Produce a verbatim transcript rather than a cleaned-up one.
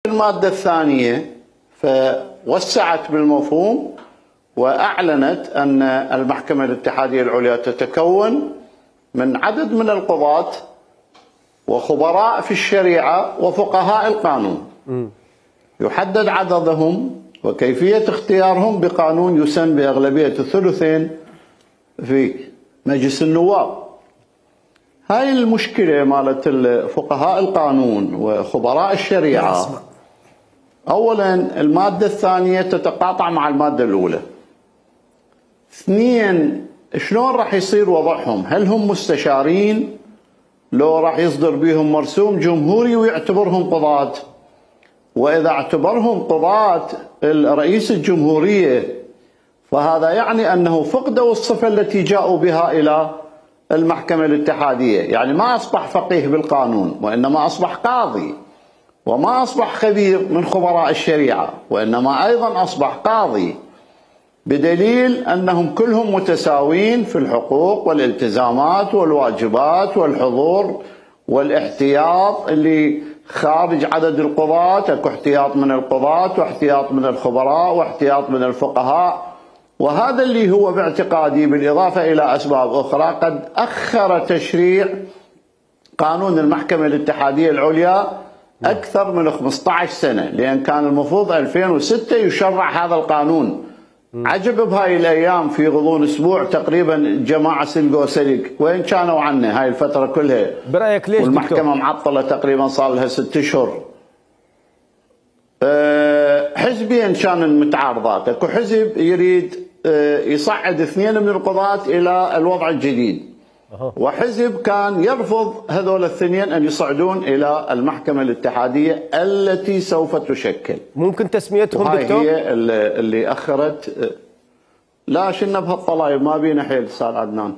المادة الثانية فوسعت بالمفهوم وأعلنت أن المحكمة الاتحادية العليا تتكون من عدد من القضاة وخبراء في الشريعة وفقهاء القانون. يحدد عددهم وكيفية اختيارهم بقانون يسن بأغلبية الثلثين في مجلس النواب. هاي المشكلة مالت فقهاء القانون وخبراء الشريعة، أولا المادة الثانية تتقاطع مع المادة الأولى. اثنين، شلون راح يصير وضعهم؟ هل هم مستشارين لو راح يصدر بهم مرسوم جمهوري ويعتبرهم قضاة؟ وإذا اعتبرهم قضاة رئيس الجمهورية فهذا يعني أنه فقدوا الصفة التي جاءوا بها إلى المحكمة الاتحادية، يعني ما أصبح فقيه بالقانون وإنما أصبح قاضي، وما أصبح خبير من خبراء الشريعة وإنما أيضا أصبح قاضي، بدليل أنهم كلهم متساوين في الحقوق والالتزامات والواجبات والحضور والاحتياط اللي خارج عدد القضاة. اكو احتياط من القضاة واحتياط من الخبراء واحتياط من الفقهاء، وهذا اللي هو باعتقادي بالإضافة إلى أسباب أخرى قد أخر تشريع قانون المحكمة الاتحادية العليا أكثر من خمسة عشر سنة، لأن كان المفروض ألفين وستة يشرع هذا القانون. عجب بهاي الأيام في غضون أسبوع تقريبا جماعة سلقوا سلق، وين كانوا عنه هاي الفترة كلها؟ برأيك ليش والمحكمة دكتور؟ معطلة تقريبا صار لها ست أشهر. أه حزبيا كان متعارضات، اكو حزب يريد يصعد اثنين من القضاة إلى الوضع الجديد، وحزب كان يرفض هذول الاثنين أن يصعدون إلى المحكمة الاتحادية التي سوف تشكل. ممكن تسميتهم هاي دكتور؟ هي اللي أخرت. لا شلنا بهالطلايب ما بينا حيل أستاذ عدنان.